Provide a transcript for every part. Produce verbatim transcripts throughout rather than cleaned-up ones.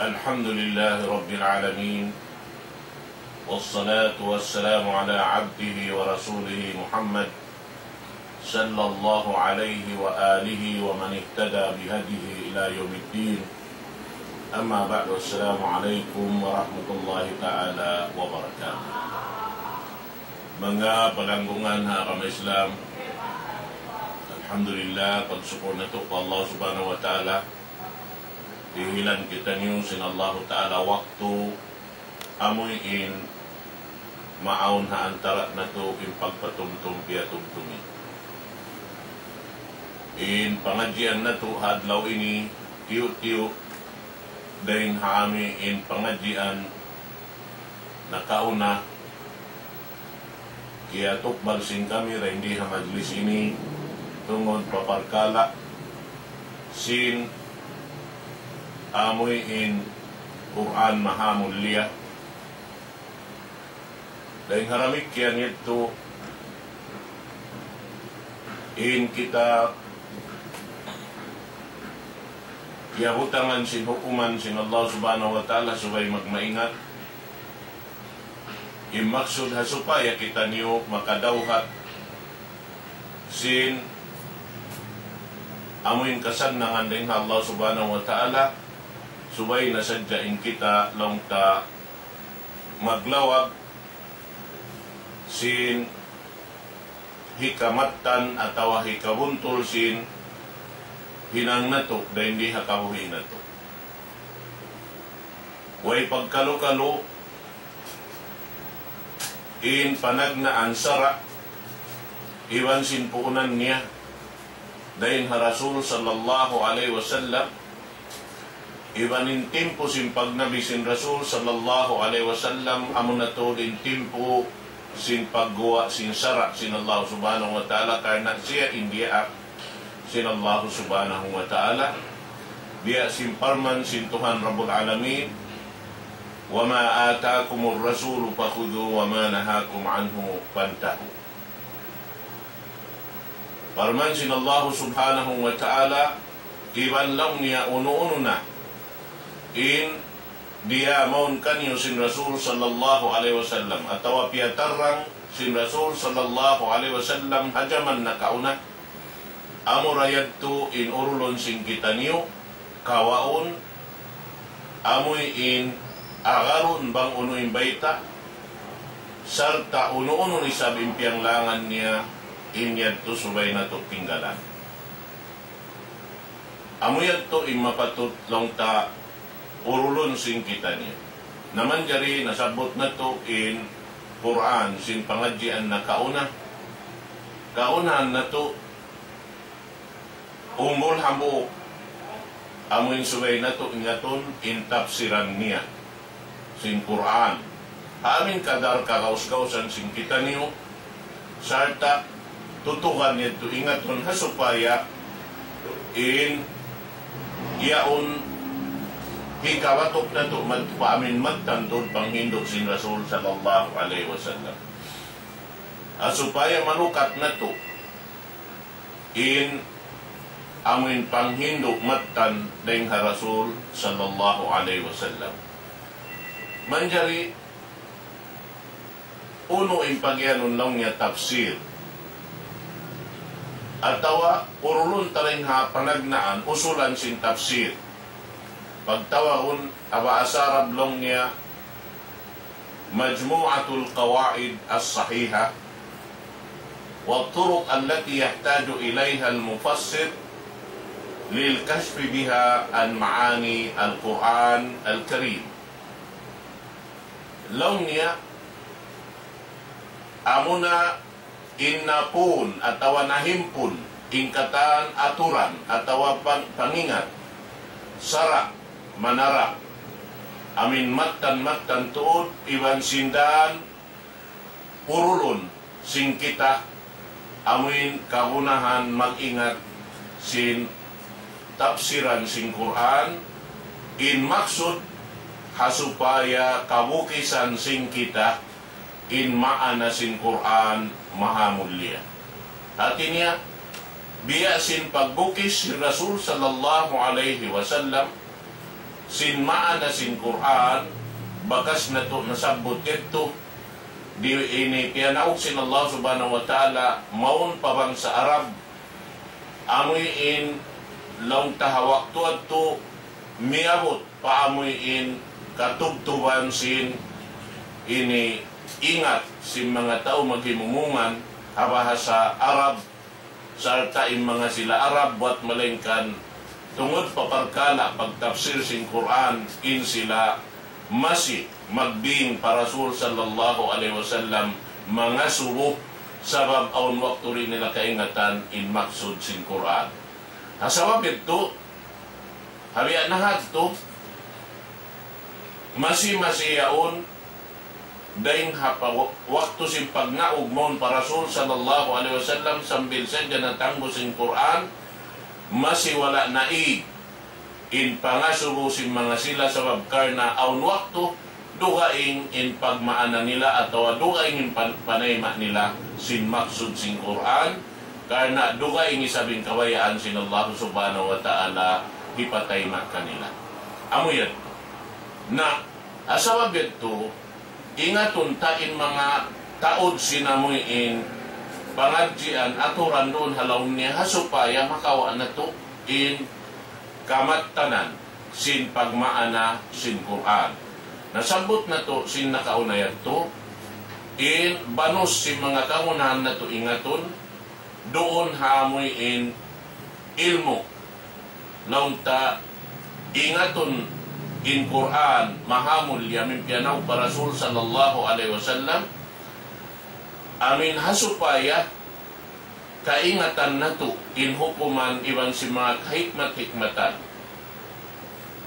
الحمد لله رب العالمين، والصلاة والسلام على عبده ورسوله محمد، صلى الله عليه وآله ومن اهتدى بهديه إلى يوم الدين. أما بعد، السلام عليكم ورحمة الله تعالى وبركاته. Manga palanggungan ha agama Islam, alhamdulillah, pagsukul natu' pa Allah Subhanahu wa Ta'ala, dihilan kitaniyu sin Allahu Ta'ala waktu amuin maawn ha antara' natu' in pagpatumtum piyatumtumi. In pangadjian natu' ha adlaw ini, tiyu'-tiyu' dayn ha amuin pangadjian nakauna, kiyatukbal sin kami dayn di ha majlis ini, tungud pa parkala' sin amuin Qur'an maha mulia. Dayn ha damikkiyan yadtu, in kita kiyabutangan sin hukuman sin Allah Subhanahu wa Ta'ala subay magmaingat. In maksud ha supaya kitaniyu makadawhat sin amuin kasannangan dayn ha Allah Subhanahu wa Ta'ala, subay na sadja in kita laung ta maglawag sin hikamattan atawa hikabuntul sin hinang natu' dayn di ha kabuhi' natu'. Way pagkalu-kalu in panagnaan sara' iban sin puunan niya dayn ha Rasul sallallahu alayhi wasallam, iban in timpu sin pagnabi sin Rasul sallallahu alayhi wasallam, amuna tuud in timpu sin pagguwa' sin sara' sin Allah Subhanahu wa Ta'ala, karna' siya in diyaak sin Allah Subhanahu wa Ta'ala. Biya' sin parman sin Tuhan Rabbul Alamin, وما آتاكم الرسول فخذوه وما نهاكم عنه فانتهوا. Parman sin Allah Subhanahu wa Ta'ala, iban laung niya unu-unu na in diyā mawn kaniyu sin Rasul sallallahu alayhi wasallam, atawa piyatarrang sin Rasul sallallahu alayhi wasallam ha jaman nakauna, amura yadtu in urulun sin kitaniyu, kawaun, amuin agarun bang unu in bayta', sarta' unu-unu isab in piyanglangan niya, in yadtu subay natu' tinggalan. Amu yadtu in mapatut laung ta urulun sin kitaniyu. Na manjari nasabbut natu' in Qur'an sin pangadjian nakauna. Kaunahan natu' umbul hambuuk, amuin subay natu' ingatun in tapsiran niya sin Qur'an. Ha amuin kadar kagaus-gausan sin kitaniyu, sarta' tutugan yadtu ingatun ha supaya in yaun hikawatuk natu' mad-, pa amuin mattan tuud panghindu' sin Rasul sallallahu alayhi wasallam. Ha supaya manukat natu' in amuin panghindu' mattan dayn ha Rasul sallallahu alayhi wasallam. Manjari unu in pagiyanun laung niya tafsir. Atawa urulun ta dayn ha panagnaan usulan sin tafsir. Pagtawagun ha bahasa Arab laung niya مجموعة القواعد الصحيحة والطرق التي يحتاج إليها المفسر للكشف بها عن معاني القرآن الكريم. Laung niya, amuna in napun atawa nahimpun in katan aturan atawa pan-, pangingat, sara', manara', amuin mattan-mattan tuud iban sin dan urulun sin kita, amuin kagunahan mag-ingat sin tapsiran sin Qur'an, in maksud ha supaya kabukisan sin kita in maana sin Qur'an maha mulia. Hati niya, biya' sin pagbukis sin Rasul sallallahu alayhi wasallam, sin maana sin Qur'an, bakas natu' nasabbut yadtu, di' ini piyanaug sin Allah Subhanahu wa Ta'ala, mawn pa bangsa Arab, amuin laung ta ha waktu yadtu miyabut pa amuin katubtuban sin ini ingat sin manga tau maghimumungan ha bahasa Arab, sarta' in manga sila Arab, buwat malaingkan tungud pa parkala' pagtapsir sin Qur'an, in sila masi magbing pa Rasul sallallahu alayhi wasallam mangasubu, sabab awn waktu di' nila kaingatan in maksud sin Qur'an. Ha sabab yadtu, ha biya' na hadtu, masi-masi yaun, dayng ha pa-, waktu sin pagnaug mawn pa Rasul sallallahu alayhi wasallam sambil sadja natanggu sin Qur'an, masi wala' naig in pangasubu sin manga sila, sabab karna' awn waktu dugaing in pagmaana nila atawa dugaing in pan-, panayma' nila sin maksud sin Qur'an, karna' dugaing isab in kabayaan sin Allah Subhanahu wa Ta'ala hipatayma' kanila. Amu yan. Na, ha sabab yadtu, ingatun ta in manga taud sin amuin pangadjian aturan duun ha lawm niya, ha supaya makawa' natu' in kamattanan sin pagmaana sin Qur'an. Nasabbut natu' sin nakauna yadtu, in banus sin manga kangunahan natu' ingatun, duun ha amuin ilmu'. Laung ta ingatun in Qur'an mahamulliya amuin piyanaug pa Rasul sallallahu alayhi wasallam, amuin ha supaya kaingatan natu' in hukuman iban sin manga kahikmat-hikmatan.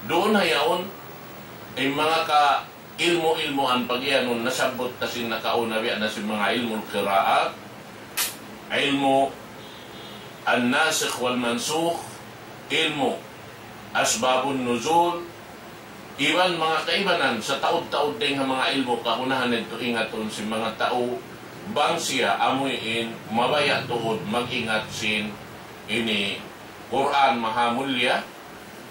Duun ha yaun, in manga ka ilmu'-ilmuan pag-iyanun nasabbut ta sin nakauna, biya' na sin manga ilmu' al-qiraat, ilmu' an-nasikh wal-mansukh, ilmu' asbabun nuzul, iban manga kaibanan sa taud-taud dayng ha manga ilmu' kagunahan yadtu ingatun sin manga tau bang siya amuin mabaya' tuud mag-ingat sin ini Qur'an mahamulliya,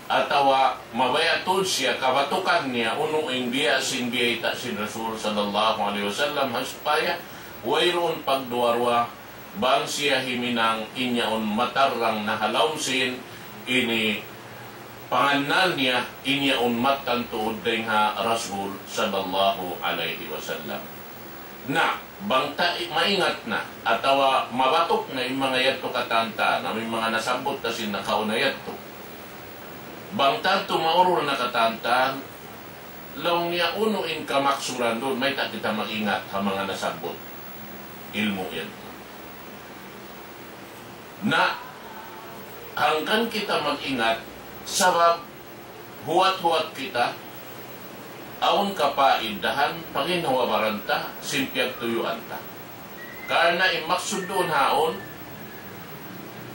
atawa mabaya' tuud siya kabatukan niya unu in biya' sin biyayta' sin Rasul sallallahu alayhi wasallam, ha supaya wayruun pagduwa-ruwa bang siya himinang in yaun matarrang na ha lawm sin ini pangannal niya in yaun mattan tuud dayng ha Rasul sallallahu alayhi wasallam. Na, bang ta i-, maingat na, atawa mabatuk na in manga yadtu katantan, amu in manga nasabbut ta sin nakauna yadtu. Bang tantu maurul na katantan, laung niya unu in kamaksuran duun, mayta' kita mag-ingat ha manga nasabbut ilmu' yadtu. Na, hangkan kita mag-ingat, sabab huwat-huwat kita, awn kapaidahan, paginhawa-baran ta, sin piyagtuyuan ta. Karna' in maksud duun haun,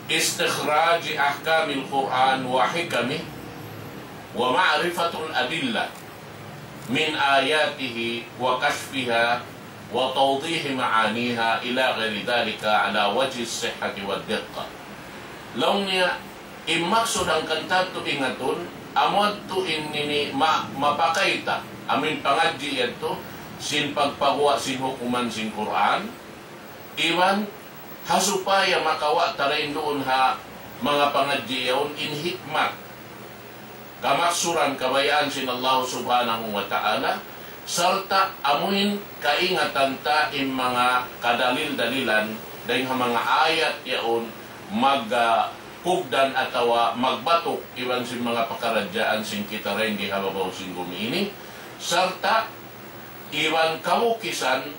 استخراج أحكام القرآن وحكمه ومعرفة الأدلة من آياته وكشفها وتوضيح معانيها إلى غير ذلك على وجه الصحة والدقة. Laung niya, in maksud hangkan ta yadtu ingatun, amu yadtu in ini ma-, mapakay ta, amuin pangadji' yadtu, sin pagpaguwa' sin hukuman sin Qur'an, iban ha supaya makawa' ta dayn duun ha manga pangadji' yaun in hikmat, kamaksuran, kabayaan sin Allah Subhanahu wa Ta'ala, sarta' amuin kaingatan ta in manga kadalil-dalilan dayn ha manga ayat yaun magkugdan atawa magbatuk iban sin manga pakaradjaan sin kita dayn di ha babaw sin gumi ini, sarta' iban kabukisan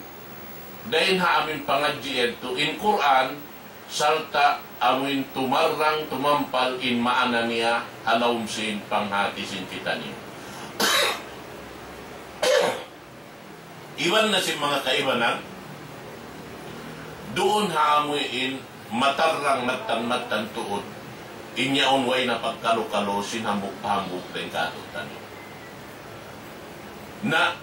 dayn ha amuin pangadji' yadtu in Qur'an, sarta' amuin tumarrang tumampal in maana niya ha lawm sin panghati sin kitaniyu. Iban na sin manga kaibanan, duun ha amuin matarrang mattan-mattan tuud, in yaun way na pagkalu-kalu sin hambuuk pa hambuuk dayn kātu'niyu. Na,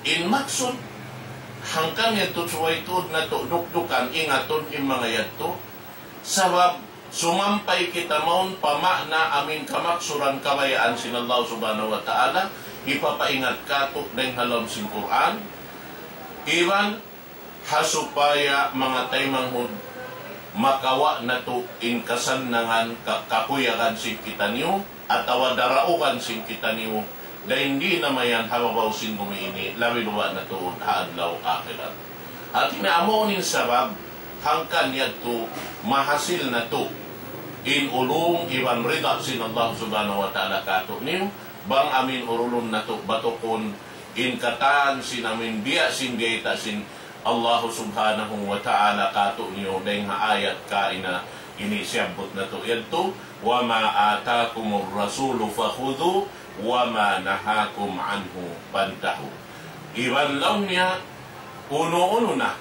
in maksud, hangkan yadtu subay tuud natu' dukdukan, ingatun in manga yadtu, sabab Sumampay kita mawn pa maana amu in kamaksuran kabayaan sin Allah Subhanahu wa Ta'ala, hipapaingat kātu' dayn ha lawm sin Qur'an, iban ha supaya manga taymanghud makawa' natu' in kasannangan ka-, kakuyagan sin kitaniyu, atawa daraugan sin kitaniyu, dayn di' na mayan ha babaw sin bumi ini, labi luba' na tuud ha adlaw akhirat. Hāti niya amu in sabab, hangkan yadtu mahasil natu' in ulung iban rida sin Allah Subhanahu wa Ta'ala kātu'niyu, bang amu in urulun natu' batukun in katan sin amu in biya' sin biyayta' sin Allah Subhanahu wa Ta'ala kātu'niyu dayn ha ayat kaina ini siyabbut natu' yadtu, وما آتاكم الرسول فخذوه وما نهاكم عنه فانتهوا. Iban laung niya, unu-unu na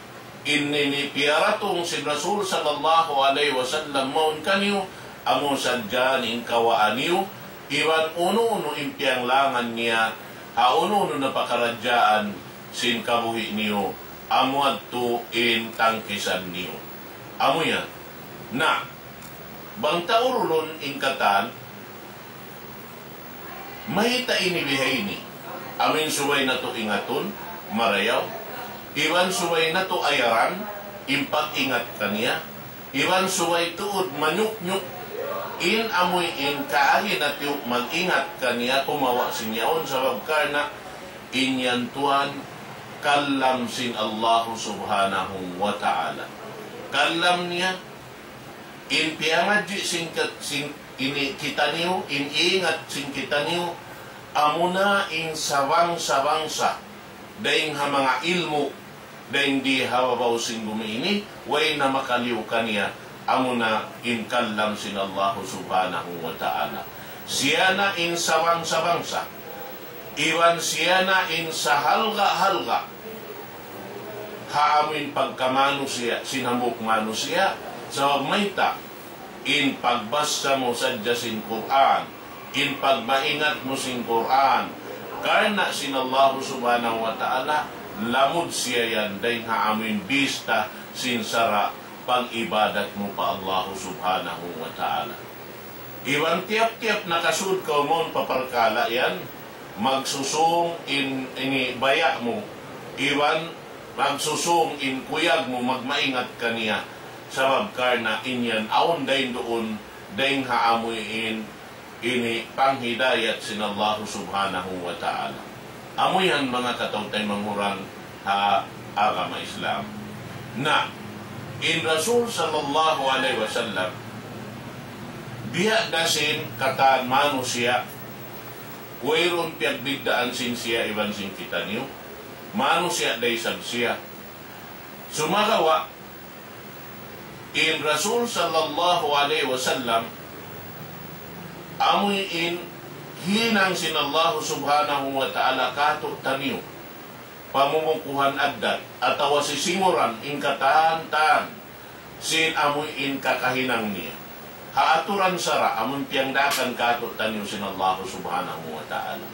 in ini piyaratung sin Rasul sallallahu alayhi wasallam mawn kaniyu, amu sadja in kawaa niyu, iban unu-unu in piyanglangan niya, ha unu-unu na pakaradjaan sin kabuhi' niyu, amu yadtu in tangkisan niyu. Amu yan. Na, bang ta urulun in katan, mayta' ini bihaini. Amu in subay natu' ingatun, marayaw. Iban subay natu' ayaran, in pag-ingat kaniya. Iban subay tuud manyuknyuk, in amu in kaagi natu' mag-ingat kaniya kumawa' sin yaun, sabab karna' in yan tuwan kalam sin Allah Subhanahu wa Ta'ala. Kalam niya, in piyangadji' sin kat-, sin ini kitaniyu, in ingat sin kitaniyu, amuna in sabang-sabangsa dayn ha manga ilmu', dayn di ha babaw sin bumi ini, way na makaliyu kaniya, amuna in kalam sin Allah Subhanahu wa Ta'ala. Siya na in sabang-sabangsa, iban siya na in sahalga'-halga' ha amu in pagkamanusiya', sin hambuuk manusiya', sabab mayta', in pagbassa mu sadja sin Qur'an, in pagmaingat mu sin Qur'an, karna' sin Allah Subhanahu wa Ta'ala, lamud siya yan dayn ha amu in bista sin sara' pag-ibadat mu pa Allah Subhanahu wa Ta'ala. Iban tiyap-tiyap nakasud kaw mawn pa parkala' yan, magsusung in ini baya' mu, iban magsusung in kuyag mu, magmaingat kaniya. Sabab karna' in yan awn dayn duun, dayn ha amu in ini panghidayat sin Allah Subhanahu wa Ta'ala. Amu yan manga kataw-taymanghuran ha agama Islam. Na, in Rasul sallallahu alayhi wasallam, biya' da sin katan manusiya', wayruun piyagbiddaan sin siya iban sin kitaniyu, manusiya' da isab siya. Sumagawa', in Rasul sallallahu alayhi wasallam, amu in hinang sin Allah Subhanahu wa Ta'ala kātu'niyu, pamumukuhan addat, atawa sisinguran in katan-katan sin amu in kakahinang niya. Ha aturan sara', amu in piyangdaakan kātu'niyu sin Allah Subhanahu wa Ta'ala.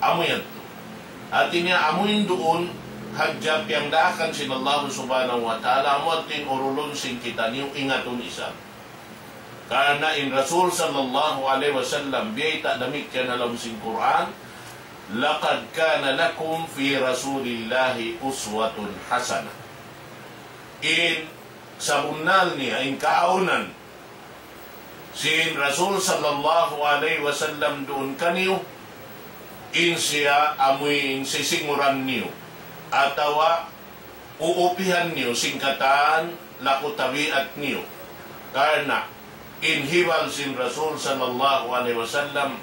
Amu yadtu. Hāti niya amu in duun, hadja piyangdaakan sin Allah Subhanahu wa Ta'ala, amu yadtu in urulun sin kitaniyu ingatun isab. Karna' in Rasul sallallahu alayhi wasallam, biyayta' damikkiyan ha lawm sin Qur'an, لقد كان لكم في رسول الله أسوة حسنة. In sabunnal niya, in kaawnan, sin Rasul sallallahu alayhi wasallam duun kaniyu, in siya amu in sisinguran niyu, atawa uupihan niyu sin katan laku tabiat niyu. Karna' in hibal sin Rasul sallallahu alayhi wasallam,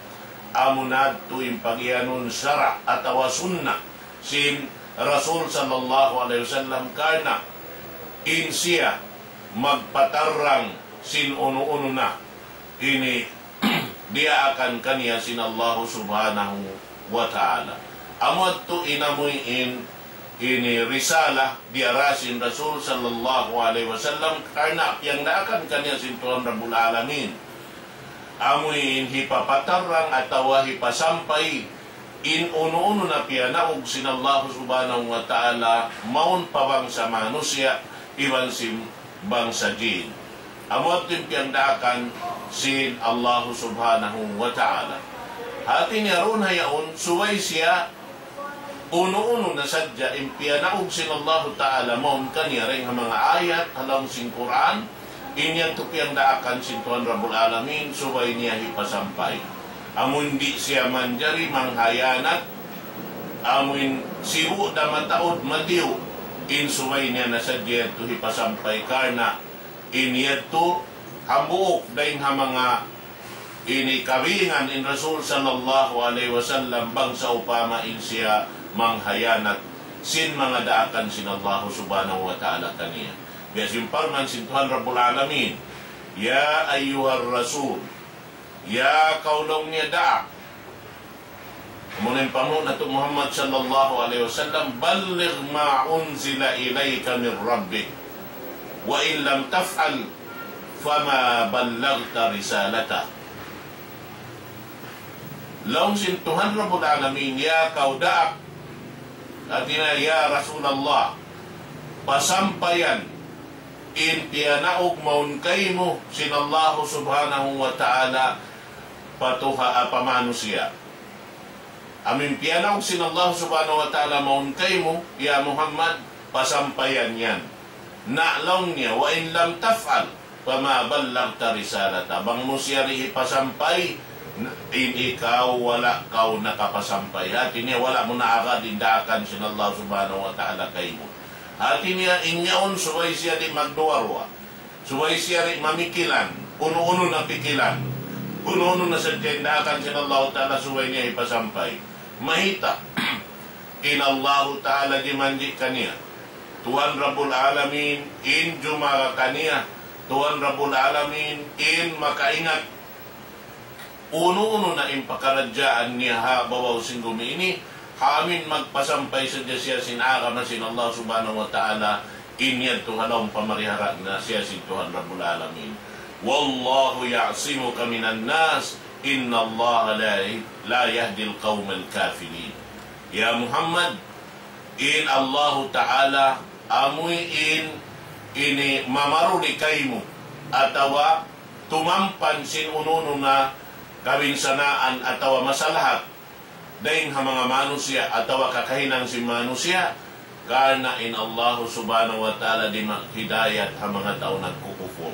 amu na yadtu in pagiyanun sara' atawa sunna sin Rasul sallallahu alayhi wasallam, karna' in siya magpatarrang sin unu-unu na ini diyaakan kaniya sin Allah Subhanahu wa Ta'ala. Amu yadtu in amu in ini risala diyara sin Rasul sallallahu alayhi wasallam, karna' piyangdaakan kaniya sin Tuhan Rabbul Alamin. Amu in hipapatarrang atawa hipasampay in unu-unu na piyanaug sin Allah Subhanahu wa Ta'ala mawn pa bangsa manusiya' iban sin bangsa jin. Amu yadtu in piyagdaakan sin Allahu Subhanahu wa Ta'ala. Hati niya duun ha yaun, subay siya unu-unu na sadja in piyanaug sin Allahu Ta'ala mawn kaniya dayn ha manga ayat ha lawm sin Qur'an, in yadtu piyagdaakan sin Tuhan Rabbul Alamin, subay niya hipasampay. Amun di' siya manjari manghiyanat, amun sibu' da mataud matiyu', in subay niya na sadja yadtu hipasampay karna' in yadtu hambuuk dayn ha manga ini kabingan in Rasul sallallahu alayhi wasallam bang sawpama in siya manghiyanat sin manga daakan sin Allahu Subhanahu wa Ta'ala kaniya. Biya' sin parman sin Tuhan Rabbul Alamin, "Ya ayyuhar Rasul," ya kaw laung niya daak, amuna in panghu' natu' Muhammad sallallahu alayhi wasallam, "Balligh ma unzila ilayka min rabbik, wa in lam taf'al, fama ballaghta risalatah." Laung sin Tuhan Rabbul Alamin, "Ya kaw daak," hati niya, "Ya Rasulullah, pasampayan in piyanaug mawn kaymu sin Allahu Subhanahu wa Ta'ala pa tuha-, pa manusiya'. Amun piyanaug sin Allahu Subhanahu wa Ta'ala mawn kaymu, ya Muhammad, pasampayan yan. Na laung niya, wa in lam taf'al, fama ballaghta risalatah." Bang mu siya di' hipasampay, in ikaw wala' kaw nakapasampay. Hati niya wala' mu naagad in daakan sin Allahu Subhanahu wa Ta'ala kaymu. Hati niya in yaun subay siya di' magduwa-ruwa. Subay siya di' mamikilan, unu-unu na pikilan, unu-unu na sadja in daakan sin Allahu Ta'ala subay niya hipasampay. Mayta'? In Allahu Ta'ala jimanji' kaniya. Tuhan Rabbul Alamin in jumaga kaniya. Tuhan Rabbul Alamin in makaingat unu-unu na in pakaradjaan niya ha babaw sin gumi ini, ha amin magpasampay sadja siya sin agama sin Allah Subhanahu wa Ta'ala, in yadtu ha lawm pamarihara na siya sin Tuhan Rabbul Alamin. "Wallahu ya'simuka minan nas, innallaha la, la yahdil qawmal kafirin." Ya Muhammad, in Allahu Ta'ala amuin ini mamaruli kaymu, atawa tumampan sin unu-unu na kabinsanaan atawa masalahat dayn ha manga manusiya' atawa kakahinang sin manusiya', karna' in Allahu Subhanahu wa Ta'ala di' maghidayat ha manga tau nagkukupur.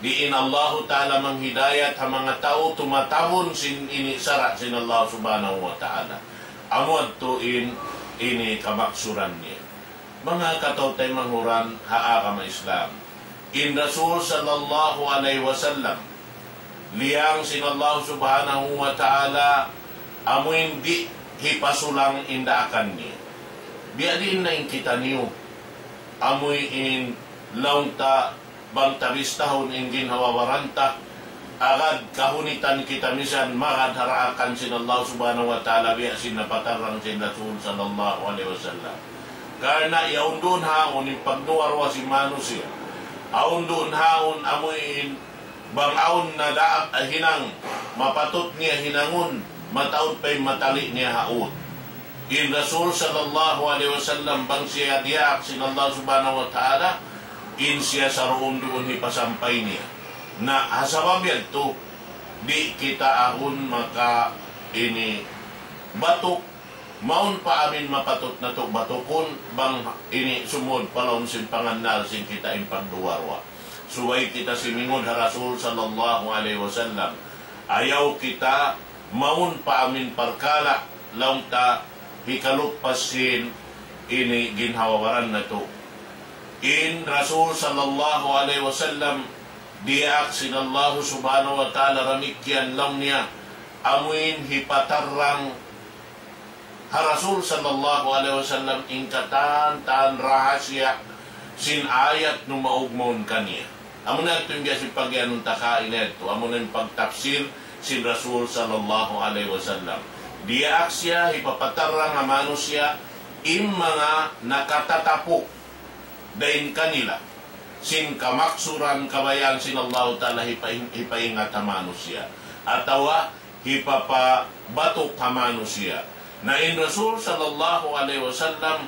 Di' in Allahu Ta'ala manghidayat ha manga tau tumatabun sin ini sara' sin Allah Subhanahu wa Ta'ala. Amu yadtu in ini kamaksuran niya. Manga kataw-taymanghuran ha agama Islam. In Rasul sallallahu alayhi wasallam, liyang sin Allah Subhanahu wa Ta'ala, amuin di' hipasulang in daakan niya. Biya' diin na in kitaniyu, amuin laung ta bang ta bistahun in ginhawa-baran ta, agad kahunitan kita misan magad ha daakan sin Allah Subhanahu wa Ta'ala biya' sin napatarrang sin Rasul sallallahu alayhi wasallam. Karna' yaun duun ha yaun in pagduwa-ruwa sin manusiya'. Awn duun ha yaun amuin bang awn na daak hinang mapatut niya hinangun, mataud pa in matali niya ha ut. In Rasul sallallahu alayhi wasallam bang siya diyaak sin Allah Subhanahu wa Ta'ala, in siya saruun-duun hipasampay niya. Na ha sabab yadtu, di' kita agun maka ini batuk, mawn pa amin mapatut natu' batukun, bang ini sumud pa lawm sin pangannal sin kita in pagduwa-ruwa. Subay kita simingud ha Rasul sallallahu alayhi wasallam. Ayaw kita mawn pa amin parkala' laung ta hikaluppas sin ini ginhawa-baran natu'. In Rasul sallallahu alayhi wasallam diyaak sin Allah Subhanahu wa Ta'ala damikkiyan laung niya, amuin hipatarrang ha Rasul sallallahu alayhi wasallam in katan-katan rahasiya sin ayat numaug mawn kaniya. Amuna yadtu in biya' sin pagiyanun ta kaina yadtu, amuna in pagtapsir sin Rasul sallallahu alayhi wasallam. Diyaak siya hipapatarrang ha manusiya' in manga nakatatapuk dayn kanila sin kamaksuran kabayaan sin Allahu Ta'ala hipaing-, hipaingat ha manusiya'. Atawa hipapabatuk ha manusiya'. Na in Rasul sallallahu alayhi wasallam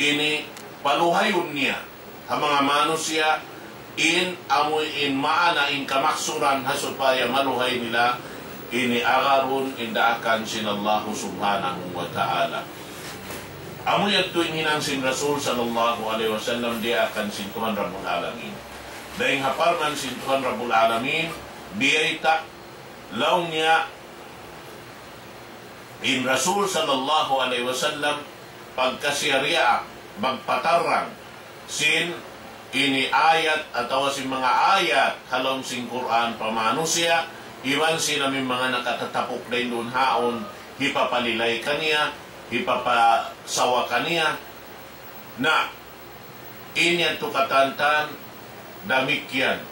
ini paluhayun niya ha manga manusiya' in amu in maana in kamaksuran ha supaya maluhay nila ini agarun in daakan sin Allahu Subhanahu wa Ta'ala. Amu yadtu in hinang sin Rasul sallallahu alayhi wasallam diyaakan sin Tuhan Rabbul Alamin. Dayng ha parman sin Tuhan Rabbul Alamin, biyayta' laung niya in Rasul sallallahu alayhi wasallam pagkasiyariya magpatarrang sin ini ayat atawa sin manga ayat ha lawm sin Qur'an pa manusiya', iban sin amu in manga nakatatapuk dayn duun haun, hipapalilay kaniya, hipapasawa kaniya. Na, in yadtu katantan, damikkiyan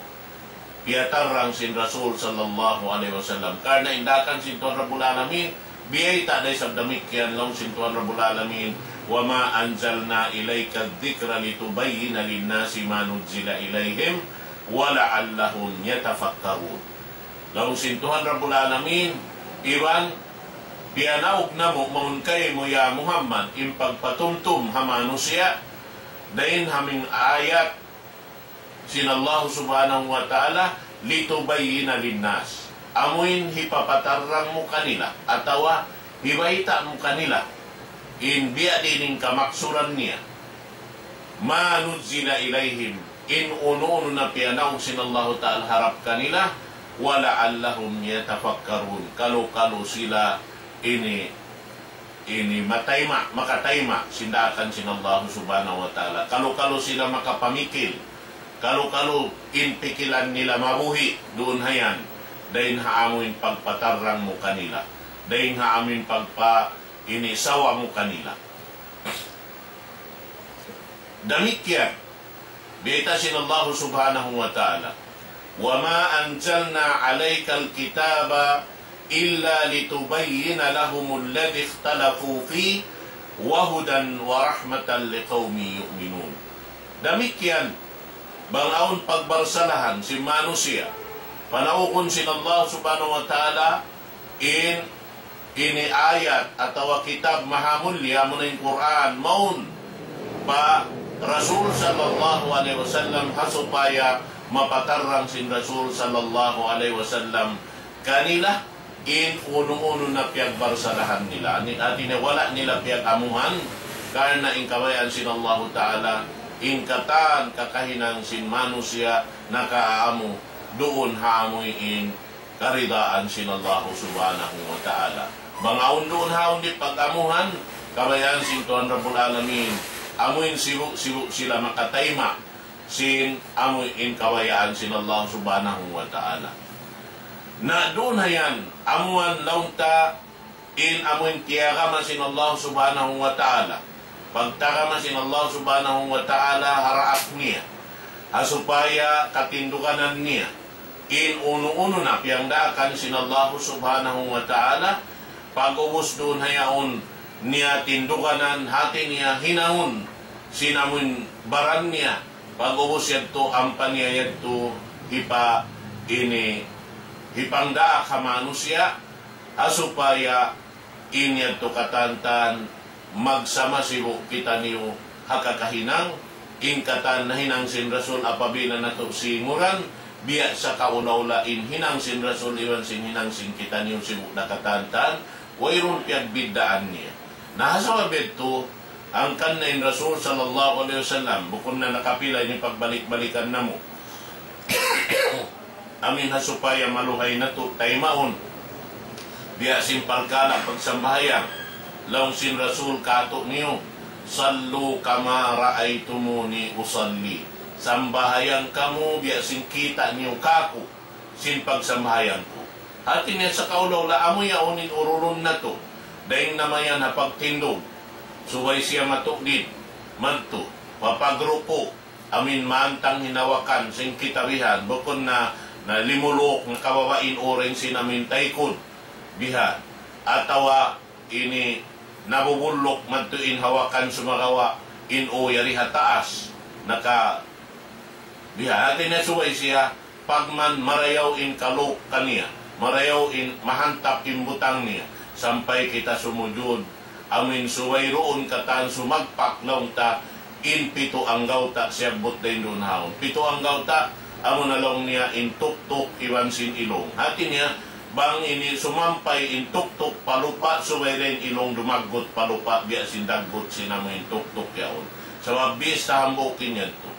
piyatarrang sin Rasul sallallahu alayhi wasallam. Karna' in daakan sin Tuhan Rabbul Alamin, biyayta' da isab damikkiyan laung sin Tuhan Rabbul Alamin, وما أنزلنا إليك الذكر لتبين للناس ما نزل إليهم ولعلهم يتفكرون. Laung sin Tuhan Rabbul Alamin, iban piyanaug namu' mawn kaymu ya Muhammad in pagpatumtum ha manusiya', dayn ha manga ayat sin Allah Subhanahu wa Ta'ala, لتبين للناس. Amuin hipapatarrang mu kanila, atawa hibayta' mu kanila, in biya' diin in kamaksuran niya. ما نزل إليهم, in unu-unu na piyanaug sin Allahu Ta'ala harap kanila, ولعلهم يتفكرون. Kalu-kalu sila ini ini matayma', makatayma' sin daakan sin Allah Subhanahu wa Ta'ala. Kalu-kalu sila makapamikil, kalu-kalu in pikilan nila mabuhi' duun hayan, dayn ha amuin pagpatarrang mu kanila, dayn ha amuin pagpa-, ini sawa mu kanila. Damikkiyan, biyayta' sin Allah Subhanahu wa Ta'ala, وما أنزلنا عليك الكتاب إلا لتبين لهم الذي اختلفوا فيه وهدى ورحمة لقوم يؤمنون. Damikkiyan, bang awn pagbarsalahan sin manusiya', panaugun sin Allah Subhanahu wa Ta'ala in ini ayat atawa kitab mahamulliya, amuna in Qur'an, mawn pa Rasul sallallahu alayhi wasallam, ha supaya mapatarrang sin Rasul sallallahu alayhi wasallam kanila in unu-unu na piyagbarsalahan nila. Ini hati niya wala' nila piyag-amuhan, karna' in kabayaan sin Allahu Ta'ala, in katan kakahinang sin manusiya' nakaamu duun ha amuin karidaan sin Allah Subhanahu wa Ta'ala. Bang awn duun haun di' pag-amuhan, kabayaan sin Tuhan Rabbul Alamin, amuin sibu'-sibu' sila makatayma' sin amuin kabayaan sin Allah Subhanahu wa Ta'ala. Na duun hayan, amuan laung ta in amuin tiyagama sin Allah Subhanahu wa Ta'ala. Pagtagama sin Allah Subhanahu wa Ta'ala ha raak niya, ha supaya katinduganan niya in unu-unu na piyangdaakan sin Allah Subhanahu wa Ta'ala, pag'ubus duun hayaun niya tinduganan, hati niya hinangun sin amuin baran niya, pag'ubus yadtu ampa niya yadtu hipa-, ini, hipangdaak ha manusiya', ha supaya in yadtu katantan magsama sibu' kitaniyu ha kakahinang, in katan nahinang sin Rasul apabila natu' singuran, biya' sakaula-ula in hinang sin Rasul iban sin hinang sin kitaniyu sibu' da katantan, wayruun piyagbiddaan niya. Na ha sabab yadtu, hangkan na in Rasul sallallahu alayhi wasallam, bukun na nakapila ini pagbalik-balikan namu'. Amuin ha supaya maluhay natu' taymaun. Biya' sin parkala' pagsambahayang. Laung sin Rasul kātu'niyu, صلوا كما رأيتموني أصلي. Sambahayang kamu biya' sin kita' niyu kāku' sin pagsambahayang ku. Hati niya sakaula-ula amu yaun in urulun natu'. Dayn na mayan ha pagtindug. Subay siya matuklid. Madtu. Papagruku'. Amuin mantang hinawakan sin kitabihan, bukun na, na limuluk na kababa' in uring sin amuin taykud. Biha'. Atawa ini nabubulluk madtu in hawakan sumagawa' in u yari ha taas. Naka-, biha'. Hati niya subay siya, pagman marayaw in kaluk kaniya, marayaw in mahantap in butang niya, sampay kita sumujud, amuin subay duun katan sumagpak laung ta, in pitu anggawta' siyabbut dayn duun ha yaun. Pitu anggawta', amu na laung niya in tuktuk iban sin ilung. Hati niya, bang ini sumampay in tuktuk pa lupa', subay da in ilung dumaggut pa lupa', biya' sin daggut sin amu in tuktuk yaun. Sabab bis ta hambuuk in yadtu.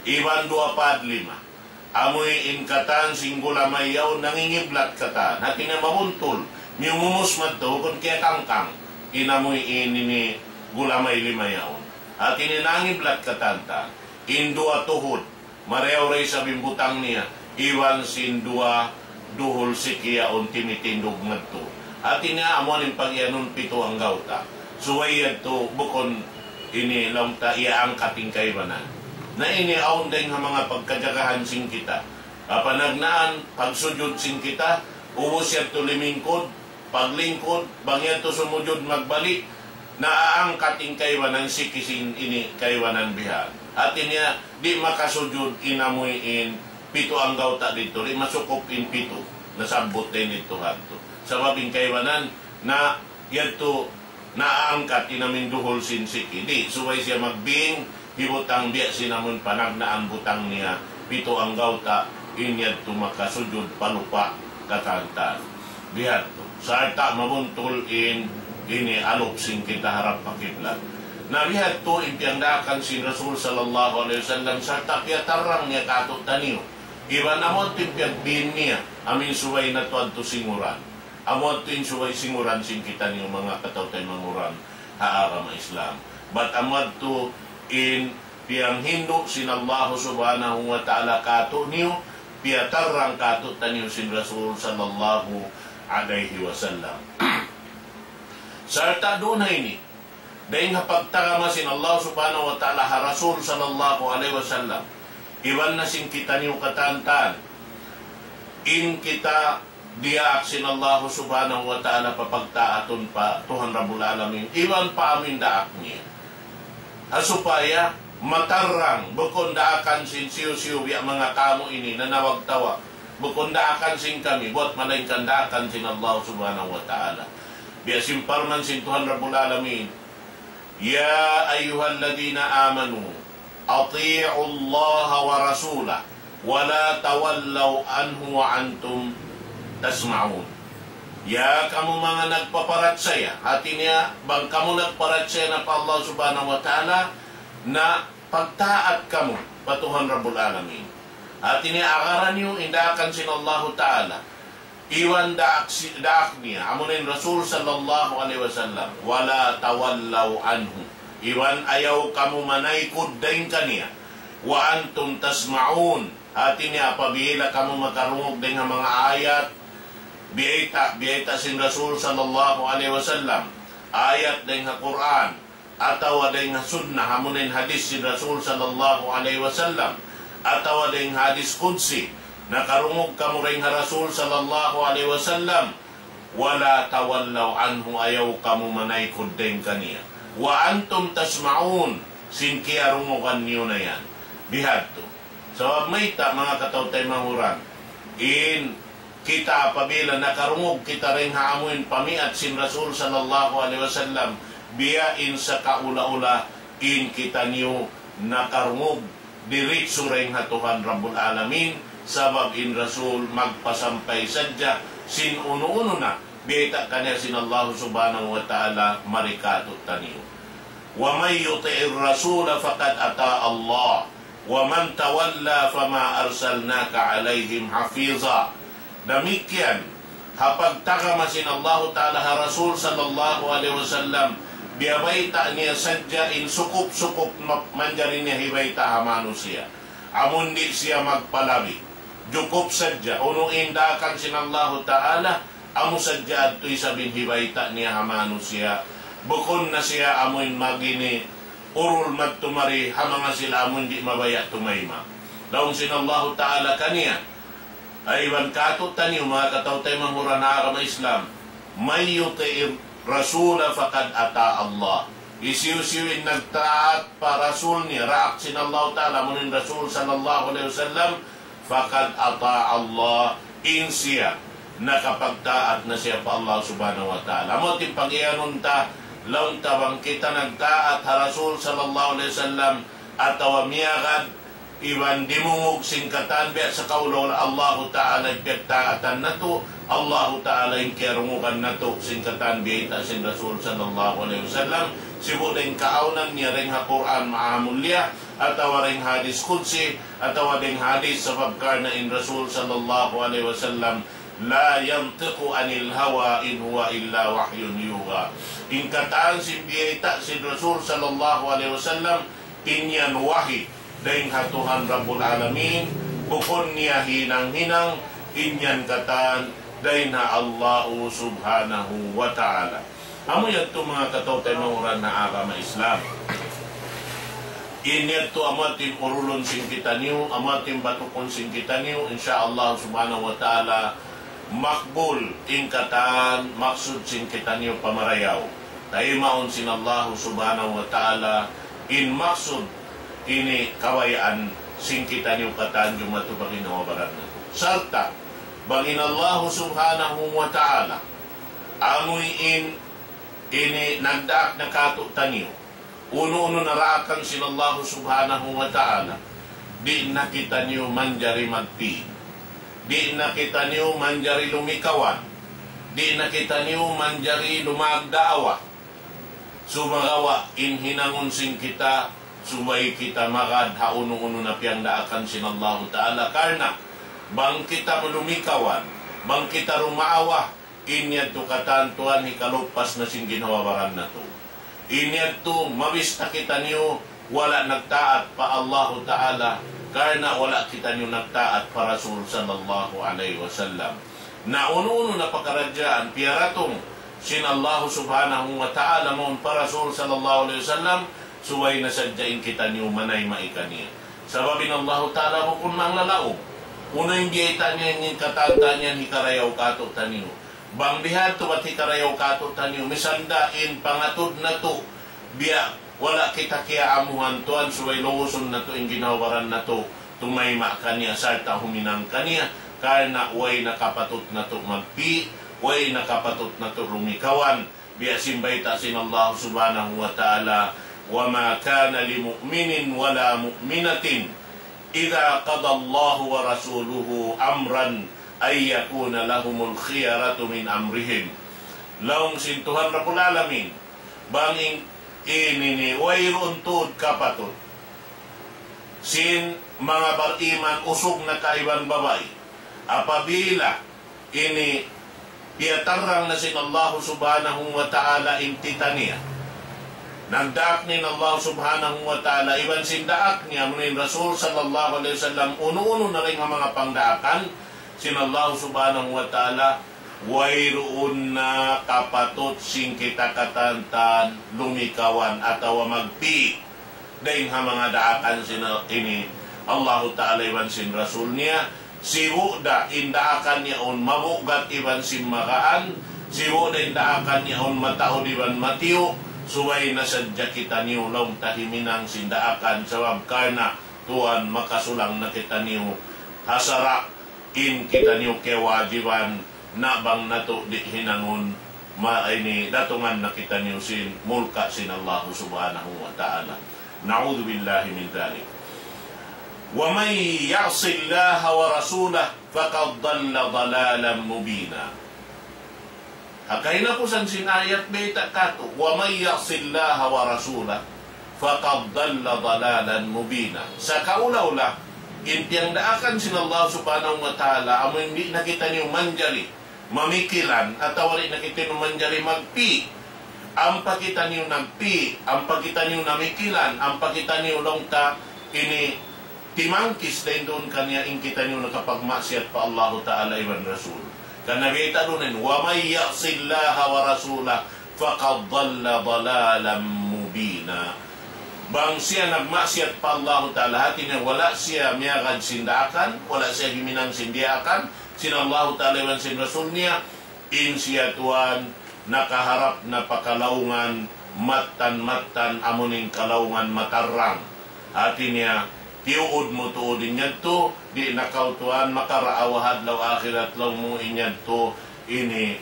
Iban duwa pad lima. Amuin in katan sin gulamay yaun nangingiblat katan. Hati niya mabuntul. Miyumus madtu, bukun kiyakangkang. In amuin ini gulamay lima yaun. Hati niya nangiblat katan ta. In duwa tuhud. Marayaw da isab in butang niya. Iban sin duwa duhul siki yaun timitindug madtu. Hati niya amuin in pag-iyanun pitu anggawta'. Subay yadtu bukun ini laung ta iyaangkat in kaibanan. Na ini awn dayn ha manga pagkajagahan sin kita. Panagnaan, pagsujud sin kita, ubus yadtu limingkud, paglingkud, bang yadtu sumujud magbalik, naaangkat in kaibanan siki sin ini kaibanan bihan. Hati niya, di' makasujud in amuin pitu anggawta' didtu, di' masukup in pitu, nasabbut dayn didtu hadtu. Sabab in kaibanan, na yadtu naaangkat in amuin duhul sin siki. Di', subay siya magbing, hibutang biya' sin amuin panagnaan butang niya, pitu anggawta', in yadtu makasujud pa lupa' katan-katan. Bihadtu. Sarta' mabuntul in, ini alup sin kita harap pa kiblat. Na bihadtu in piyangdaakan sin Rasul sallallahu alayhi wasallam, sarta' piyatarrang niya kātu'niyu. Iban amu in piyagbin niya, amuin subay na tuwan tu singuran. Amu in subay singuran sin kitaniyu manga kataw-taymanghuran ha agama Islam. Bat amu in piyanghindu' sin Allah subhanahu wa ta'ala kātu'niyu, piyatarrang kātu'niyu sin Rasul sallallahu alayhi wasallam. Sarta' duun ha ini, dayn ha pagtarama sin Allah subhanahu wa ta'ala ha Rasul sallallahu alayhi wasallam, iban na sin kitaniyu katan-katan, in kita diyaak sin Allah subhanahu wa ta'ala papagtaatun pa Tuhan Rabbul Alamin, iban pa amuin daak niya. Ha supaya matarrang, bukun daakan sin hisiyu-siyu biya' manga kamu ini nanawag-tawag. Bukun daakan sin kami, buat malaingkan daakan sin Allah subhanahu wa ta'ala. Biya' sin parman sin Tuhan Rabbul Alamin, يا أيها الذين آمنوا أطيعوا الله ورسوله ولا تولوا عنه وأنتم تسمعون. Ya kamu manga nagpaparachaya, hati niya, bang kamu nagparachaya na pa Allah subhanahu wa ta'ala, na pagtaat kamu pa Tuhan Rabbul Alamin. Hati niya, agaran niyu in daakan sin Allahu ta'ala. Iban daak, si, daak niya, amu in Rasul sallallahu alayhi wasallam, ولا تولوا عنه. Iban ayaw kamu manaykud dayn kaniya. وأنتم تسمعون. Hati niya, apabila kamu makarungug dayn ha manga ayat, biyayta', biyayta' sin Rasul sallallahu alayhi wasallam, ayat dayn ha Qur'an, atawa dayn ha sunnah, amu in hadith sin Rasul sallallahu alayhi wasallam, atawa dayn ha hadith qudsi, nakarungug kamu dayn ha Rasul sallallahu alayhi wasallam, ولا تولوا عنه, ayaw kamu manaykud dayn kaniya. وأنتم تسمعون, sin kiyarungugan niyu na yan. Bihadtu. Sabab mayta', manga kataw-taymanghuran, in kita apabila nakarungug kita dayn ha amuin pamiat sin Rasul sallallahu alayhi wasallam, biya' in sakaula-ula in kitaniyu nakarungug diritsu dayn ha Tuhan Rabbul Alamin, sabab in Rasul magpasampay sadja sin unu-unu na biyayta' kaniya sin Allah subhanahu wa ta'ala mari kātu'niyu. ومن يطع الرسول فقد أطاع الله ومن تولى فما أرسلناك عليهم حفيظا. Damikkiyan, ha pagtagama sin Allahu Ta'ala ha Rasul sallallahu alayhi wasallam, biyabayta' niya sadja in sukup-sukup ma-, manjari niya hibayta' ha manusiya'. Amun di' siya magpalabi. Jukup sadja, unu in daakan sin Allahu Ta'ala, amu sadja adtu isab in hibayta' niya ha manusiya'. Bukun na siya amuin magini urul magtumari ha manga sila amun di' mabaya' tumayma'. Laung sin Allahu Ta'ala kaniya, ay iban kātu'niyu manga kataw-taymanghuran ha agama Islam, من يطع الرسول فقد أطاع الله. Hisiyu-siyu in nagtaat pa Rasul niya, daak sin Allahu Ta'ala, amu in Rasul sallallahu alayhi wasallam, فقد أطاع الله, in siya nakapagtaat na siya pa Allah subhanahu wa ta'ala. Amu in pag-iyanun ta, laung ta bang kita nagtaat ha Rasul sallallahu alayhi wasallam, atawa miyagad, iban dimungug sin katan biya' sa kaula-ula Allahu Ta'ala in piyagtaatan natu', Allahu Ta'ala in kiyarungugan natu', sin katan biyayta' sin Rasul sallallahu alayhi wasallam, sibu' dayn kaawnan niya dayn ha Qur'an Maha Mulia, atawa dayn hadis Qudsi, atawa dayn hadis sabab karna' in Rasul sallallahu alayhi wasallam, لا ينطق عن الهوى إن هو إلا وحي يوحى. In katan sin biyayta' sin Rasul sallallahu alayhi wasallam, in yan wahi dayn ha Tuhan Rabbul Alamin, bukun niya hinang-hinang, in yan katan dayn ha Allahu Subhanahu wa Ta'ala. Amu yadtu manga kataw-taymanghuran ha agama Islam. In yadtu amu yadtu in urulun sin kitaniyu, amu yadtu in batukun sin kitaniyu, insya Allah Subhanahu wa Ta'ala, makbul in katan maksud sin kitaniyu pamarayaw. Taymaun sin Allah Subhanahu wa Ta'ala in maksud ini kabayaan sin kitaniyu katan jumatu bang in hawa baran natu'. Sarta' bang in Allah Subhanahu wa Ta'ala amuin ini nagdaak na katu'taniyu unu-unu na daakan sin Allah Subhanahu wa Ta'ala, di' na kitaniyu manjari magpi', di' na kitaniyu manjari lumikawan, di' na kitaniyu manjari lumagdaawa. Sumagawa' in hinangun sin kita, subay kita magad ha unu-unu na piyagdaakan sin Allahu Ta'ala. Karna' bang kita lumikawan, bang kita lumaawa, in yadtu katan tuwan hikalupas na sin ginhawa-baran natu'. In yadtu mabista kitaniyu wala' nagtaat pa Allahu Ta'ala, karna' wala' kitaniyu nagtaat pa Rasul sallallahu alayhi wasallam. Na unu-unu na pakaradjaan piyaratung sin Allahu Subhanahu wa Ta'ala mawn pa Rasul sallallahu alayhi wasallam, subay na sadja in kitaniyu manayma' kaniya. Sabab in Allahu Ta'ala bukun manglalaung. Unu in biyayta' niya in katan-katan yan hikarayaw katu'taniyu. Bang biya' hādtu bat hikarayaw katu'taniyu, misan da in pangatud natu', biya' wala' kita kiyaamuhan tuwan, subay lugusun natu' in ginhawa-baran natu', tumayma' kaniya sarta' huminang kaniya, karna' way na kapatut natu' magpi', way na kapatut natu' lumikawan, biya' sin bayta' sin Allah Subhanahu wa Ta'ala, وما كان لمؤمن ولا مؤمنة إذا قضى الله ورسوله أمرا أن يكون لهم الخيرة من أمرهم. Laung sin Tuhan Rabbul Alamin, bang in, ini ini, wayruun tuud kapatut sin manga bariman usug na ka iban babai, apabila ini piyatarrang na sin Allah Subhanahu wa Ta'ala in tita niya. Nagdaak na in Allah Subhanahu wa Ta'ala, iban sin daak niya, amu in Rasul sallallahu alayhi wasallam, unu-unu na dayn ha manga pangdaakan sin Allah Subhanahu wa Ta'ala, wayruun na kapatut sin kita katan-katan lumikawan atawa magpi' dayn ha manga daakan sin ini Allahu Ta'ala iban sin Rasul niya, sibu' da in daakan yaun mabugat iban sin magaan, sibu' da in daakan yaun mataud iban matiyu', subay na sadja kitaniyu laung ta himinang sin daakan, sabab karna' tuwan makasulang na kitaniyu ha sara' in kitaniyu kiyawajiban, na bang natu' di' hinangun, ma-, ini datungan na kitaniyu sin mulka' sin Allah Subhanahu wa Ta'ala. نعوذ بالله من ذلك. ومن يعص الله ورسوله فقد ضل ضلالا مبينا. Ha kahinapusan sin ayat bayta' katu', ومن يعص الله ورسوله فقد ضل ضلالا مبينا. Sakaula-ula, in piyagdaakan sin Allah Subhanahu wa Ta'ala, amu in di' na kitaniyu manjari mamikilan, atawa di' na kitaniyu manjari magpi'. Ampa kitaniyu nagpi', ampa kitaniyu namikilan, ampa kitaniyu laung ta ini timangkis dayn duun kaniya in kitaniyu nakapagmaksiyat pa Allahu Ta'ala iban Rasul. Kan Nabi ta duun in, ومن يعص الله ورسوله فقد ضل ضلالا مبينا. Bang siya nagmaksiyat pa Allahu Ta'ala, hati niya wala' siya miyagad sin daakan, wala' siya himinang sin diyaakan sin Allahu Ta'ala iban sin Rasul niya, in siya tuwan nakaharap na pa kalaungan mattan-mattan, amu in kalaungan matarrang. Hati niya, tiyuud mu tuud in yadtu, di' na kaw tuwan makaraawa ha adlaw akhirat laung mu in yadtu, ini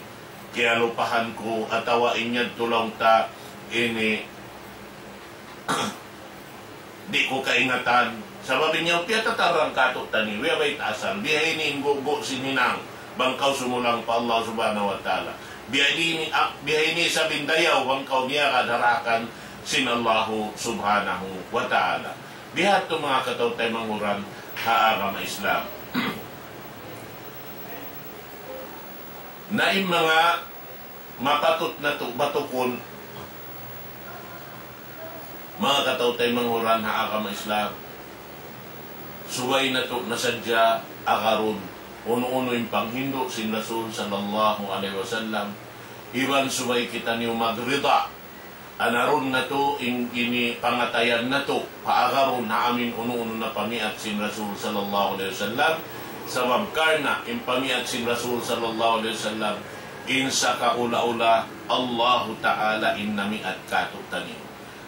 kiyalupahan ku, atawa in yadtu laung ta, ini Di' ku kaingatan. Sabab in yaun piyatatarrang kātu'niyu, biya' bayta' asal, biya' ini in gugu' sin hinang, bang kaw sumulang pa Allah Subhanahu wa Ta'ala. Biya' ini, ah, biya' ini isab in dayaw, bang kaw miyagad ha daakan sin Allahu Subhanahu wa Ta'ala. Biya' hādtu manga kataw-taymanghuran ha agama Islam. Na in manga mapatut natu' batukun, manga kataw-taymanghuran ha agama Islam, subay natu' na sadja agarun unu-unu in panghindu' sin Rasul sallallahu alayhi wasallam, iban subay kitaniyu magrida, anarun natu' in ini pangatayan natu', paagarun ha amin unu-unu na pamiat sin Rasul sallallahu alayhi wasallam. Sabab karna' in pamiat sin Rasul sallallahu alayhi wasallam, in sakaula-ula Allahu Ta'ala in namiat kātu'niyu.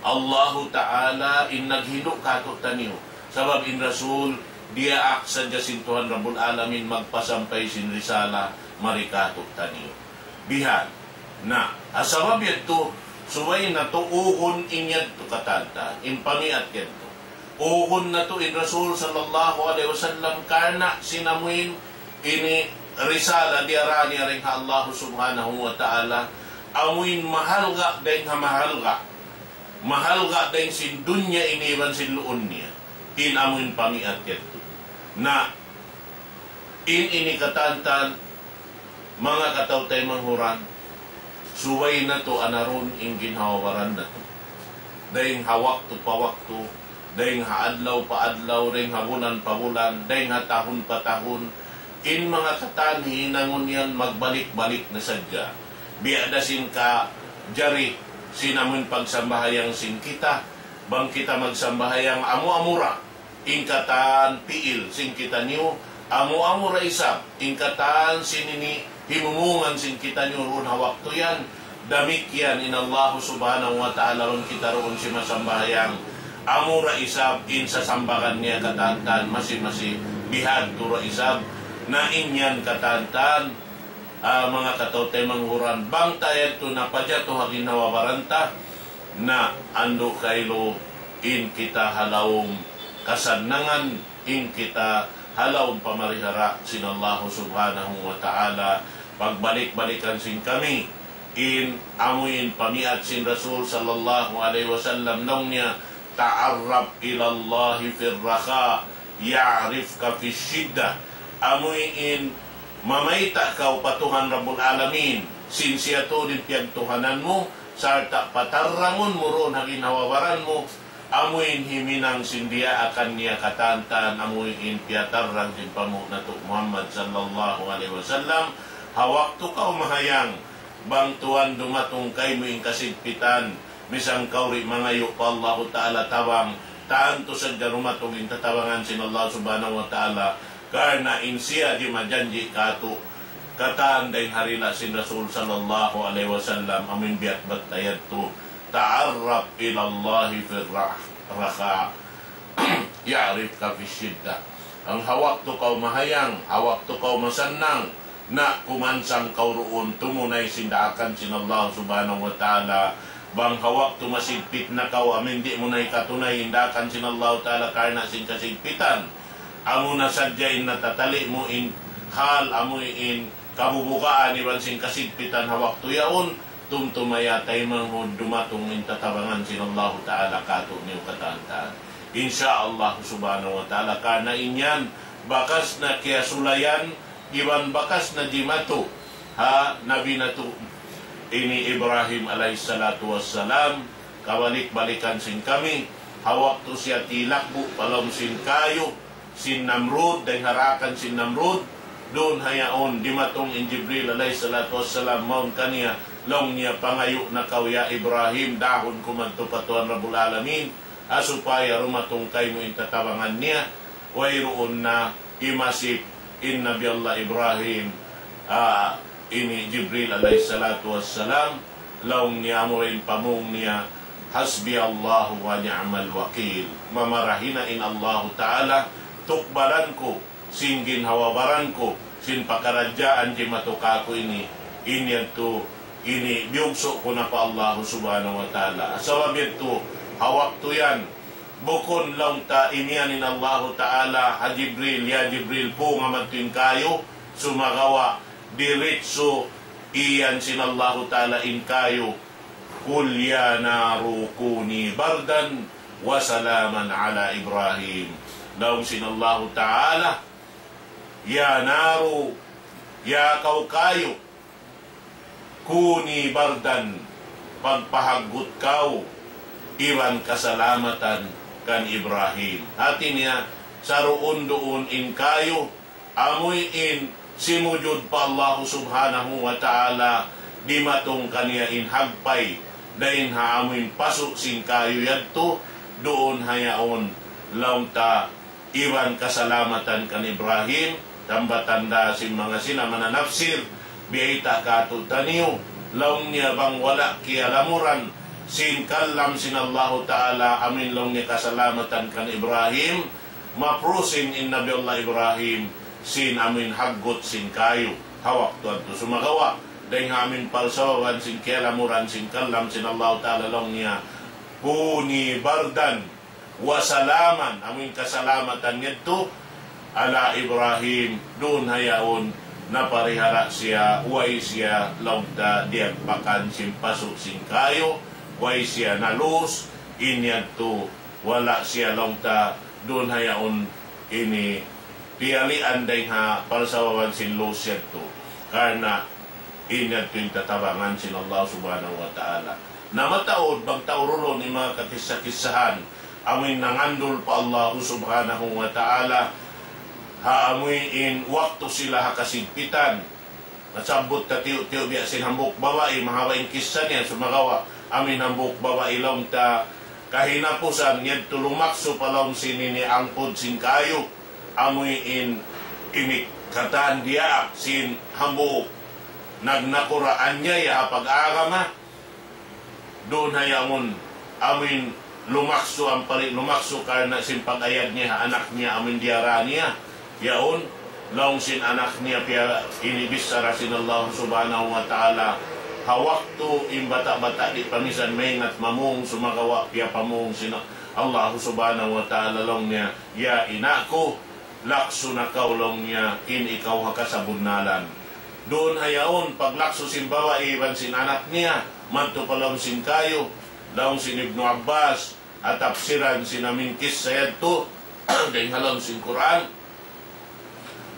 Allahu Ta'ala in naghindu' kātu'niyu. Sabab in Rasul, diyaak sadja sin Tuhan Rabbul Alamin magpasampay sin risala mari kātu'niyu. Bihan. Na, ha sabab yadtu, subay natu' ugun in yadtu katantan, in pamiat yadtu. Ugun natu' in Rasul sallallahu alayhi wasallam karna' sin amuin ini risala diyara niya dayn ha Allah Subhanahu wa Ta'ala, amuin mahalga' dayn ha mahalga'. Mahalga' dayn sin dunya ini iban sin luun niya. In amuin pamiat yadtu. Na, in ini katantan, manga kataw-taymanghuran, subay natu' anarun in ginhawa-baran natu'. Dayn ha waktu pa waktu, dayn ha adlaw pa adlaw, dayn ha bulan pa bulan, dayn ha tahun pa tahun, in manga katan hinangun yan magbalik-balik na sadja. Biya' da sin kajari sin amun pagsambahayang sin kita, bang kita magsambahayang amu-amu ra in katan piil sin kitaniyu, amu-amu ra isab in katan sin ini himumungan sin kitaniyu duun ha waktu yan. Damikkiyan in Allah Subhanahu wa Ta'ala, bang kita duun simasambahayang, amu ra isab in sasambagan niya katantan masi-masi, bihadtu ra isab. Na in yan katantan, ah, manga kataw-taymanghuran, bang ta yadtu napajatu ha ginhawa-baran ta, na andu' kailu in kita ha lawm kasannangan, in kita ha lawm pamarihara sin Allah Subhanahu wa Ta'ala. Pagbalik-balikan sin kami in amuin pamiat sin Rasul sallallahu alayhi wasallam, laung niya, تعرف إلى الله في الرخاء يعرفك في الشدة. Amuin mamayta' kaw pa Tuhan Rabbul Alamin, sin siya tuud in piyagtuhanan mu, sarta' patarrangun mu duun ha ginhawa-baran mu, amuin himinang sin diyaakan niya katantan, amuin piyatarrang sin panghu' natu' Muhammad sallallahu alayhi wasallam, ha waktu kaw mahayang, bang tuwan dumatung kaymu in kasigpitan, misan kaw di' mangayu' pa Allahu Ta'ala tabang, tantu sadja dumatung in tatabangan sin Allah Subhanahu wa Ta'ala, karna' in siya di' majanji' kātu', katan dayn ha dila' sin Rasul sallallahu alayhi wasallam, amuin biya' bat ayat tu, تعرف إلى الله في الرخاء يعرفك في الشدة. Bang ha waktu kaw mahayang, ha waktu kaw masannang, na kumansang kaw duun tumunay sin daakan sin Allah Subhanahu wa Ta'ala. Bang ha waktu masigpit na kaw, amuin di' mu na hikatunay in daakan sin Allah Ta'ala karna' sin kasigpitan. Amu na sadja in natatali' mu in hal, amuin kabubugaan iban sin kasigpitan ha waktu yaun, tumtuma ya taymanghud dumatung in tatabangan sin Allahu Ta'ala kātu'niyu katantan. Insya Allah Subhanahu wa Ta'ala, karna' in yan bakas na kiyasulayan, iban bakas na jimatu ha Nabi natu' ini Ibrahim alayhi salatu wassalam, kabalik-balikan sin kami, ha waktu siya tilakbu' pa lawm sin kayu, sin Namrud, dayn ha daakan sin Namrud, duun ha yaun, dimatung in Jibril alayhi salatu wassalam, mawn kaniya, laung niya, pangayu' na kaw ya Ibrahim, dahun ku madtu pa Tuhan Rabbul Alamin, ha supaya dumatung kaymu in tatabangan niya, wayruun na imasip in Nabi Allah Ibrahim, ah, ini Jibril alayhi salatu wassalam, laung niya amura in pamung niya, حسبي الله ونعم الوكيل. Mamarahi na in Allahu Ta'ala, tukbalan ku, sin ginhawa-baran ku, sin pakaradjaan jimatu kāku' ini, in yadtu, ini biyugsu' ku na pa Allahu Subhanahu wa Ta'ala. Sabab yadtu, ha waktu yan, Bukun laung ta imiyan in Allahu Ta'ala ha Jibril, "Ya Jibril, punga madtu in kayu," sumagawa' diritsu iyan sin Allahu Ta'ala in kayu, "قل يا نار كوني بردا وسلاما على إبراهيم." Laung sin Allahu Ta'ala, "Ya naru, ya kaw kayu, kuni bardan, pagpahaggut kaw iban kasalamatan kan Ibrahim." Hati niya, saruun-duun in kayu, amuin simujud pa Allahu Subhanahu wa Ta'ala, dimatung kaniya in hagpay, dayn ha amuin pasu' sin kayu yadtu, duun ha yaun laung ta iban kasalamatan kan Ibrahim, tambatan da sin manga sila mananapsir, biyayta' kātu'niyu, laung niya bang wala' kiyalamuran sin kalam sin Allahu Ta'ala, amuin laung niya kasalamatan kan Ibrahim, maprusin in Nabi Allah Ibrahim, sin amuin haggut sin kayu, ha waktu yadtu sumagawa', dayn ha amuin palsawaban sin kiyalamuran sin kalam sin Allahu Ta'ala laung niya, "Kuni bardan wa salaman," amuin kasalamatan yadtu, "ala Ibrahim," duun ha yaun, naparihara siya, way siya laung ta diyagpakan sin pasu' sin kayu, way siya nalus, in yadtu, wala' siya laung ta, duun ha yaun, ini, piyalian dayn ha palsawaban sin lus yadtu. Karna' in yadtu in tatabangan sin Allah Subhanahu wa Ta'ala. Na mataud bang ta urulun in manga kakissa-kissahan, amuin nangandul pa Allah Subhanahu wa Ta'ala, ha amuin waktu sila ha kasigpitan. Nasabbut ta tiyu'-tiyu' biya' sin hambuuk babai, mahaba' in kissa niya, sumagawa', amuin hambuuk babai laung ta, kahinapusan yadtu lumaksu pa lawm sin ini angkud sin kayu, amuin ini katan diyaak sin hambuuk nagnakura' aniaya ha pag-agama, duun ha yaun, amuin lumaksu, ampali lumaksu karna' sin pag-ayad niya ha anak niya, amuin diyara niya. Yaun, laung sin anak niya piya ini bichara sin Allah Subhanahu wa Ta'ala. Ha waktu in bata'-bata' di' pa minsan maingat mamung, sumagawa' piyapamung sin Allah Subhanahu wa Ta'ala laung niya, "Ya ina' ku, laksu na kaw," laung niya, "in ikaw ha kasabunnalan." Duun ha yaun, paglaksu sin babai iban sin anak niya, madtu pa lawm sin kayu, laung sin Ibnu Abbas, ha tapsiran sin amuin kissa yadtu, dayn ha lawm sin Qur'an.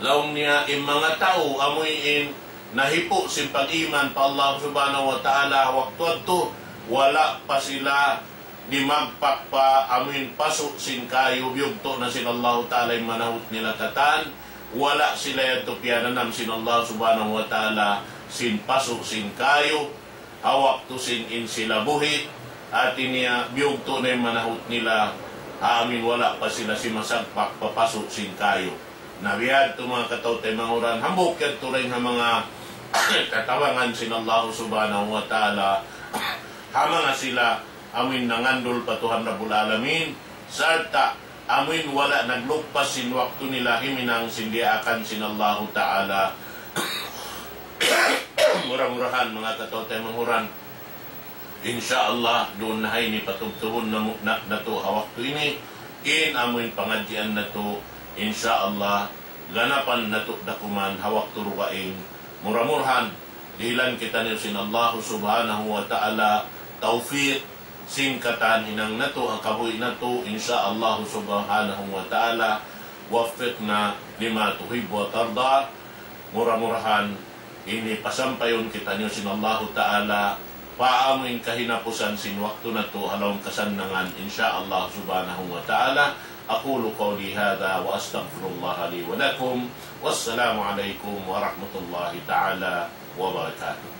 Laung niya, in manga tau amuin nahipu' sin pag-iman pa Allah Subhanahu wa Ta'ala waktu yadtu, wala' pa sila dimagpak pa amuin pasu' sin kayu, biyugtu' na sin Allahu Ta'ala in manahut nila katan, wala' sila yadtu piyananam sin Allah Subhanahu wa Ta'ala sin pasu' sin kayu, ha waktu sin in sila buhi', hati niya biyugtu' na in manahut nila, ha amuin wala' pa sila simasagpak pa pasu' sin kayu. Na biya' yadtu manga kataw-taymanghuran, hambuuk yadtu dayn ha manga tatabangan sin Allah Subhanahu wa Ta'ala, ha manga sila amuin nangandul pa Tuhan Rabbul Alamin, sarta' amuin wala' naglugpas sin waktu nila himinang sin diyaakan sin Allahu Ta'ala. Mura-murahan, manga kataw-taymanghuran, insya Allah, duun na ha ini patubtubun namu-, na, natu' ha waktu ini, in amuin pangadjian natu', insya Allah, ganapan natu' da kuman ha waktu dugaing. Mura-murahan, dihilan kitaniyu sin Allah Subhanahu wa Ta'ala tawfiq, sin katan hinang natu', ha kabuhi' natu', insya Allah Subhanahu wa Ta'ala, وفقنا لما تحب وترضى. Mura-murahan, ini pasampayun kitaniyu sin Allahu Ta'ala, pa amuin kahinapusan sin waktu natu', ha lawm kasannangan, insya Allah Subhanahu wa Ta'ala. أقول قولي هذا وأستغفر الله لي ولكم. والسلام عليكم ورحمة الله تعالى وبركاته.